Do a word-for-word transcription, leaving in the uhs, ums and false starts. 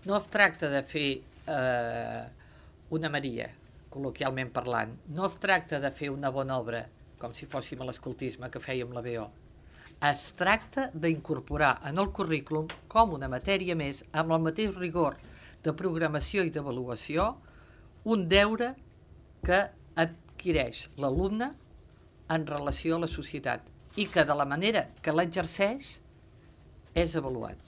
No es tracta de fer eh, una Maria, col·loquialment parlant. No es tracta de fer una bona obra, com si fóssim a l'escoltisme que fèiem la B O. Es tracta d'incorporar en el currículum com una matèria més, amb el mateix rigor de programació i d'avaluació, un deure que adquireix l'alumne en relació a la societat i que de la manera que l'exerceix és avaluat.